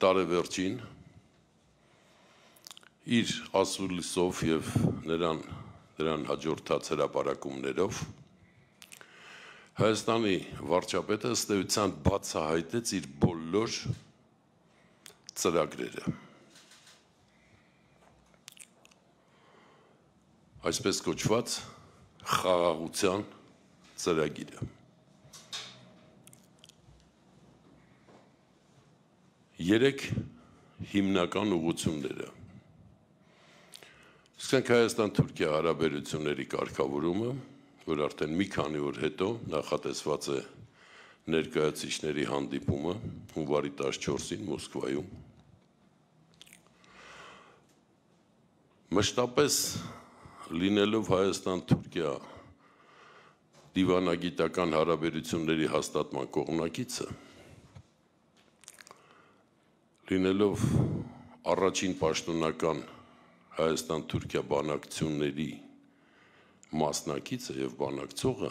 տարեվերջին իր ասուլիսով և նրան հաջորդած հրապարակումներով Հայաստանի վարչապետը ըստ էության բացահայտեց իր բոլոր ծրագրերը։ Այսպես կոչված խաղաղության ծրագիրը։ Երեք հիմնական ուղղությունները։ Սկսենք Հայաստան-Թուրքիա հարաբերությունների կարգավորումը, որ արդեն մի քանի օր հետո նախատեսված է ներկայացուցիչների հանդիպումը հունվարի 14-ին Մոսկվայում։ Մշտապես լինելով Հայաստան-Թուրքիա դիվանագիտական հարաբերությունների հաստատման կողմնակիցը, լինելով առաջին պաշտոնական Հայաստան-Թուրքիա բանակցությունների մասնակիցը և բանակցողը,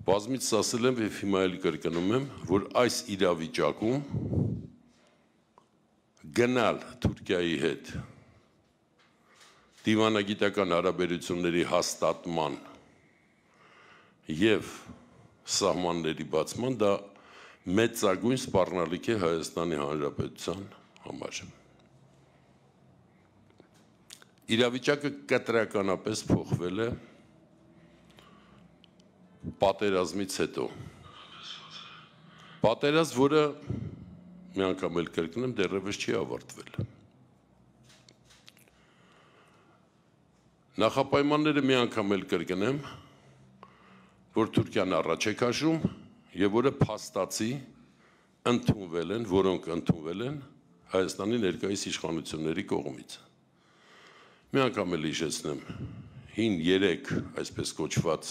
բազմիցս ասել եմ և հիմա էլ կրկնում եմ, որ այս իրավիճակում գնալ Թուրքիայի հետ դիվանագիտական հարաբերությունների հաստատման և սահմանների բացման դա մեծագույն սպառնալիք է Հայաստանի Հանրապետության համար։ Իրավիճակը կտրականապես փոխվել է պատերազմից հետո։ Պատերազմ, որը մի անգամ էլ կրկնեմ, դեռևս չի ավարտվել։ Նախապայմանները մի անգամ էլ կրկնեմ, որ Թուրքիան առաջ է քաշում և որը փաստացի ընդունվել են, որոնք ընդունվել են Հայաստանի ներկայիս իշխանությունների կողմից։ Մի անգամ էլ հիշեցնեմ, հին 3 այսպես կոչված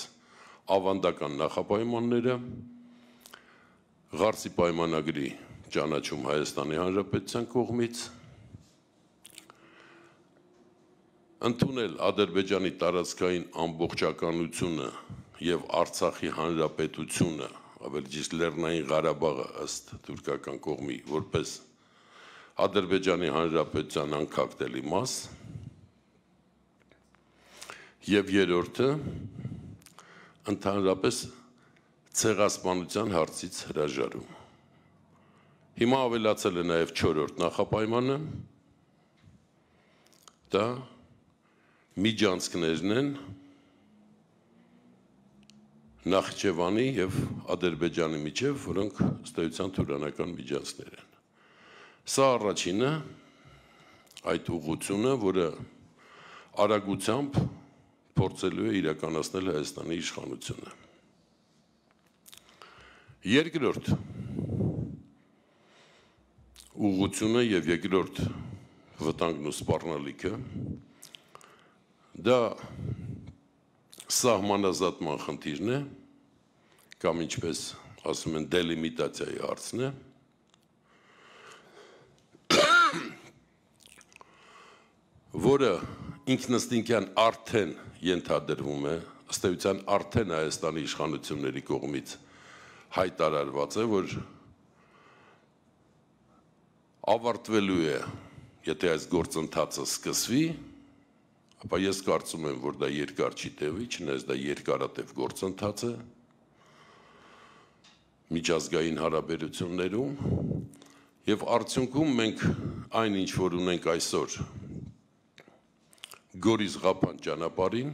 ավանդական նախապայմանները, Ղարսի պայմանագրի ճանաչում Հայաստանի Հանրապետության կողմից, ընդունել Ադրբեջանի տարածքային ամբողջականությունը և Արցախի Հանրապետությունը, ավելի ճիշտ Լեռնային Ղարաբաղը ըստ թուրքական կողմի, որպես Ադրբեջանի Հանրապետության անկախտելի մաս, և երրորդը ընդհանրապես ցեղասպանության հարցից հրաժարում։ Հիմա ավելացել է նաև 4-րդ նախապայմանը, դա միջանցքներն են Նախիջևանի և Ադրբեջանի միջև, որոնք ըստ էության թուրանական միջանցքներ են։ Սա առաջինը, այդ ուղղությունը, որը արագությամբ փորձելու է իրականացնել Հայաստանի իշխանությունը։ Երկրորդ ուղղությունը և երկրորդ վտանգն ու սպառնալիքը դա սահմանազատման խնդիրն է, կամ ինչպես ասում են դելիմիտացիայի հարցն է, որը ինքնըստինքյան արդեն ենթադրվում է, ըստ էության արդեն Հայաստանի իշխանությունների կողմից հայտարարված է, որ ավարտվելու է, եթե այս գործընթացը սկսվի, ապա ես կարծում եմ, որ դա երկար չի տևի, չնայած դա երկարատև գործընթաց է միջազգային հարաբերություններում, և արդյունքում մենք այն ինչ որ ունենք այսօր Գորիս-Ղափան ճանապարհին,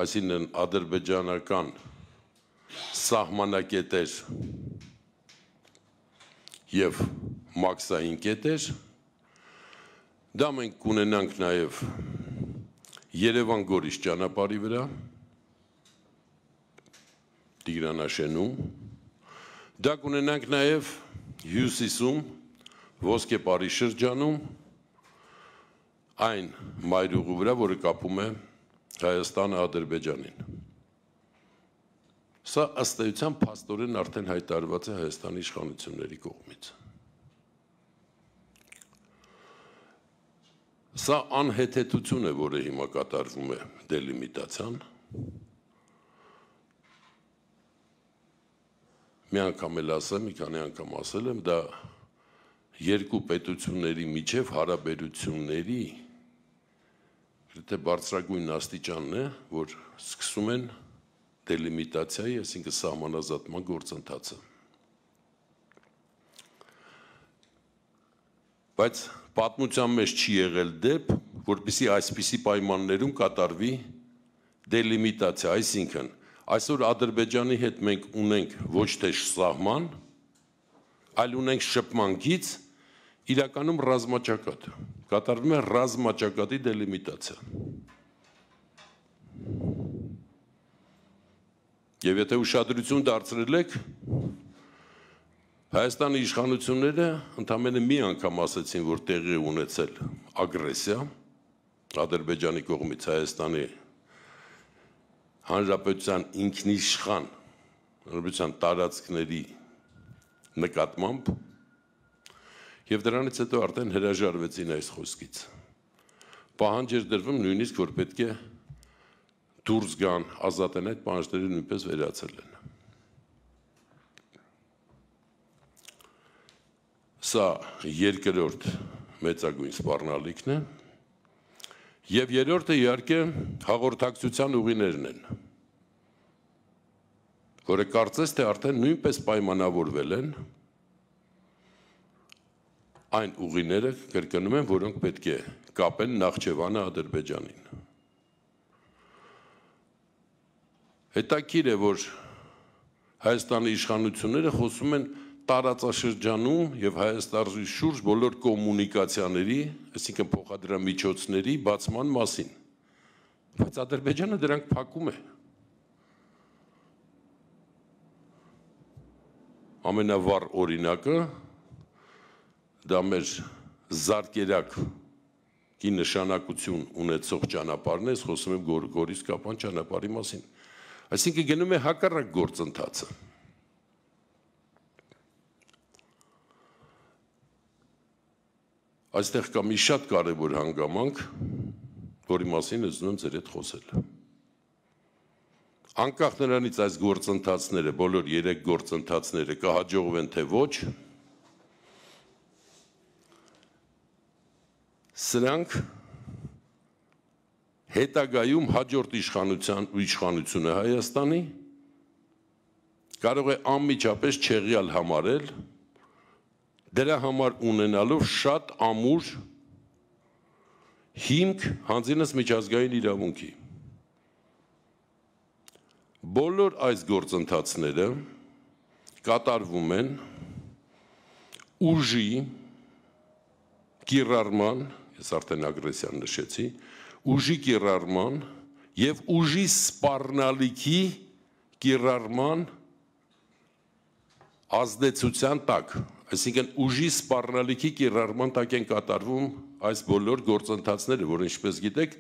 այսինքն ադրբեջանական սահմանակետեր և մաքսային կետեր, դա մենք կունենանք նաև Երևան-Գորիս ճանապարհի վրա, Տիգրանաշենում, դա կունենանք նաև հյուսիսում, Ոսկե Պարի շրջանում, այն մայրուղու վրա, որը կապում է Հայաստանը Ադրբեջանին։ Սա ըստ էության փաստորեն արդեն հայտարարված է Հայաստանի իշխանությունների կողմից։ Սա անհեթեթություն է, որը հիմա կատարվում է դելիմիտացիան։ Մի անգամ էլ ասեմ, մի քանի անգամ ասել եմ, դա երկու պետությունների միջև հարաբերությունների բարձրագույն աստիճանն է, որ սկսում են դելիմիտացիայի, այսինքն սահմանազատման գործընթացը։ Բայց պատմության մեջ չի եղել դեպ, որպեսզի այսպիսի պայմաններում կատարվի դելիմիտացիա, այսինքն այսօր Ադրբեջանի հետ մենք ունենք ոչ թե սահման, այլ ունենք շփման գիծ, իրականում ռազմաճակատ, կատարվում է ռազմաճակատի դելիմիտացիա։ Եվ եթե ուշադրություն դարձրել եք, Հայաստանի իշխանությունները ընդամենը մի անգամ ասեցին, որ տեղի ունեցել ագրեսիա Ադրբեջանի կողմից Հայաստանի Հանրապետության ինքնիշխան հանրապետության տարածքների նկատմամբ եւ դրանից հետո արդեն հրաժարվեցին այս խոսքից։ Պահանջ էր դրվում նույնիսկ, որ պետք է դուրս գան, ազատեն այդ պահանջները նույնպես վերացել են։ Սա երկրորդ մեծագույն սպառնալիքն է, եւ երրորդը իհարկե հաղորդակցության ուղիներն են, որը կարծես թե արդեն նույնպես պայմանավորվել են այն ուղիները, կրկնում եմ, որոնք պետք է կապեն Նախճեվանը Ադրբեջանին։ Հետաքրքիր է, որ Հայաստանի իշխանությունները խոսում են տարածաշրջանում եւ Հայաստանի շուրջ բոլոր կոմունիկացիաների, այսինքն փոխադրամիջոցների բացման մասին, բայց Ադրբեջանը դրանք փակում է։ Ամենավառ օրինակը դա մեր զարկերակ ի նշանակություն ունեցող ճանապարհն է, խոսում եմ Գորիս Կապան ճանապարհի մասին։ Այսինքն գնում է հակառակ գործընթացը։ Այստեղ կա մի շատ կարևոր հանգամանք, որի մասին ուզում եմ ձեր հետ խոսել։ Անկախ նրանից այս գործընթացները, բոլոր 3 գործընթացները կհաջողվեն թե ոչ, սրանք հետագայում հաջորդ իշխանությունը Հայաստանի կարող է անմիջապես չեղյալ համարել, դրա համար ունենալով շատ ամուր հիմք հանձինս միջազգային իրավունքի։ Բոլոր այս գործընթացները կատարվում են ուժի կիրառման, ես արդեն ագրեսիան նշեցի, ուժի կիրառման եւ ուժի սպառնալիքի կիրառման ազդեցության տակ, այսինքն ուժի սպառնալիքի կիրառման տակ են կատարվում այս բոլոր գործընթացները, որ ինչպես գիտեք,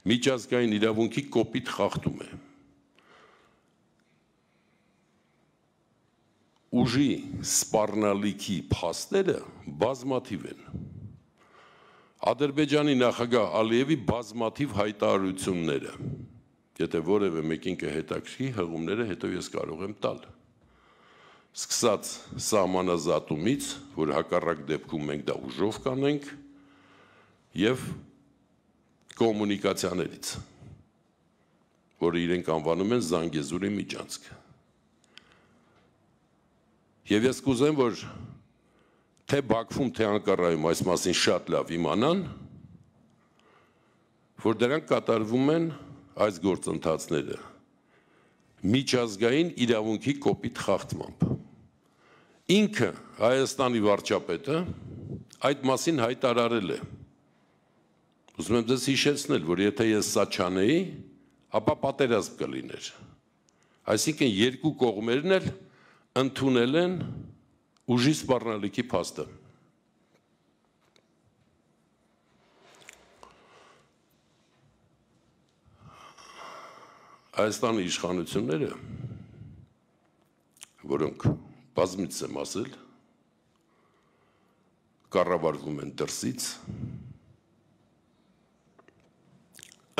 միջազգային իրավունքի կոպիտ խախտում է։ Ուժի սպառնալիքի փաստերը բազմաթիվ են։ Ադրբեջանի նախագահ Ալիևի բազմաթիվ հայտարարությունները, եթե որևէ մեկին կհետաքրքրի, հղումները հետո ես կարող եմ տալ։ Սկսած սահմանազատումից, որ հակառակ դեպքում մենք դա ուժով կանենք, եւ կոմունիկացիաներից, որը իրենք անվանում են Զանգեզուրի միջանցք։ Եվ ես կուզեմ, որ թե Բաքվում, թե Անկարայում այս մասին շատ լավ իմանան, որ դրանք կատարվում են այս գործընթացները միջազգային իրավունքի կոպիտ խախտմամբ։ Ինքը Հայաստանի վարչապետը այդ մասին հայտարարել է։ Ուզում եմ ձեզ հիշեցնել, որ եթե ես սա չանեի, ապա պատերազմ կլիներ։ Այսինքն երկու կողմերն էլ ընդունել են ուժի սպառնալիքի փաստը։ Հայաստանի իշխանությունները, որոնք բազմիցս եմ ասել, կառավարվում են դրսից,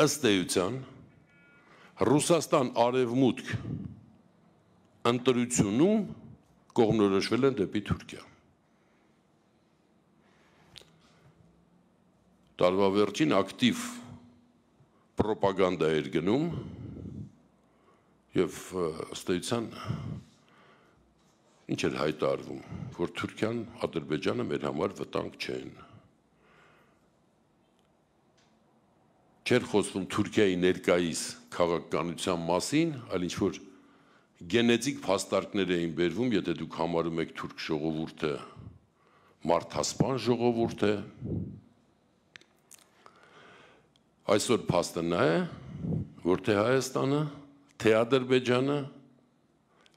ըստ էության Ռուսաստան արևմուտք ընտրությունում կողմնորոշվել են դեպի Թուրքիա։ տարվա վերջին ակտիվ պրոպագանդա էր գնում եւ ըստ էության ինչ էր հայտարարվում, որ Թուրքիան, Ադրբեջանը մեր համար վտանգ չեն։ Չէր խոսվում Թուրքիայի ներկայիս քաղաքականության մասին, այլ ինչ-որ գենետիկ փաստարկներ էին բերվում, եթե դուք համարում եք թուրք ժողովուրդը մարդասպան ժողովուրդ է։ Այսօր փաստը նա է, որ թե Հայաստանը, թե Ադրբեջանը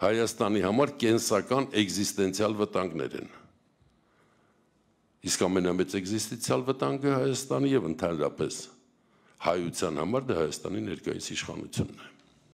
Հայաստանի համար կենսական էգզիստենցիալ վտանգներ են։ Իսկ ամենամեծ էգզիստենցիալ վտանգը Հայաստանի եւ ընդհանրապես հայության համար դա Հայաստանի ներկայիս իշխանությունն է։